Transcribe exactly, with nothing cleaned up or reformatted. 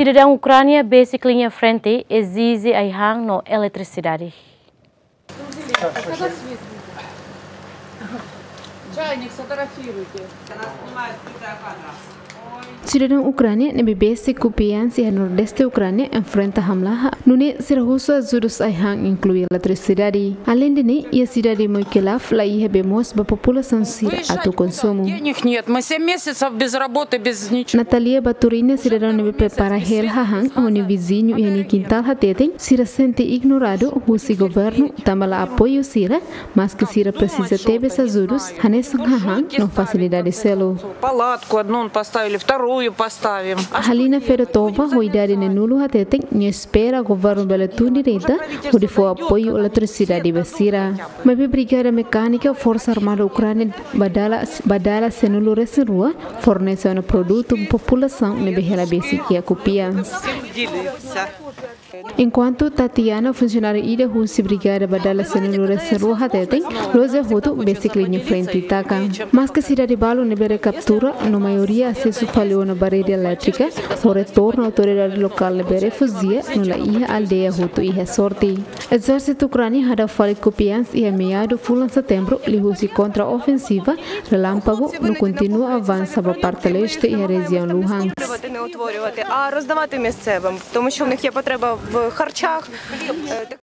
Sidadaun Ukránia besik liña frente ezije ai-han no eletrisidade. Чайник сфотографируйте. Sidadaun Ukránia ne'ebé besik Kupiansk iha nordeste Ukránia enfrenta hamlaha, nune'e sira husu ajudus ai-han, inklui eletrisidade. Aleinde ne'e, iha sidade Moikilav laiha bee moos ba populasaun sira atu konsumu. Денег нет, мы семь месяцев без работы, без ничего. Natalia Baturina, sidadaun ne'ebé prepara hela hahán ho nia viziñu iha nia kintál, hateten sira sente ignoradu husi governu, tanba la apoiu sira, maske sira presiza tebes ajudus hanesan hahán no fasilidade seluk. Палатку одну поставили, вторую поставим. Halina Fedotova, ho idade neenulu, hateten nia espera governu bele tun direta hodi fó apoiu eletrisidade ba sira. Maibé Brigada Mekánika Forsa Armada Ukránia Badala, Badala sanulu-resin-rua fornese ona produtu ba populasaun ne'ebé hela besik iha Kupiansk. Enkuantu Tatiana, funsionáriu ida husi Brigada Badala sanulu-resin-rua, hateten loja hotu besik liña frente taka. Maske sidade balu ne'ebé rekaptura, no maioria asesu fali ona ba rede elétrika, ho retornu autoridade lokál ne'ebé refuzia no laiha aldeia hotu iha sorte. Ezérsitu Ukránia hadau fali Kupiansk iha meadu fulan setembru, liuhusi kontra-ofensiva Relâmpago, no kontinua avansa ba parte leste iha rejiaun Luhansk. Не утворювати, а роздавати місцевим, тому що в них є потреба в харчах. Е,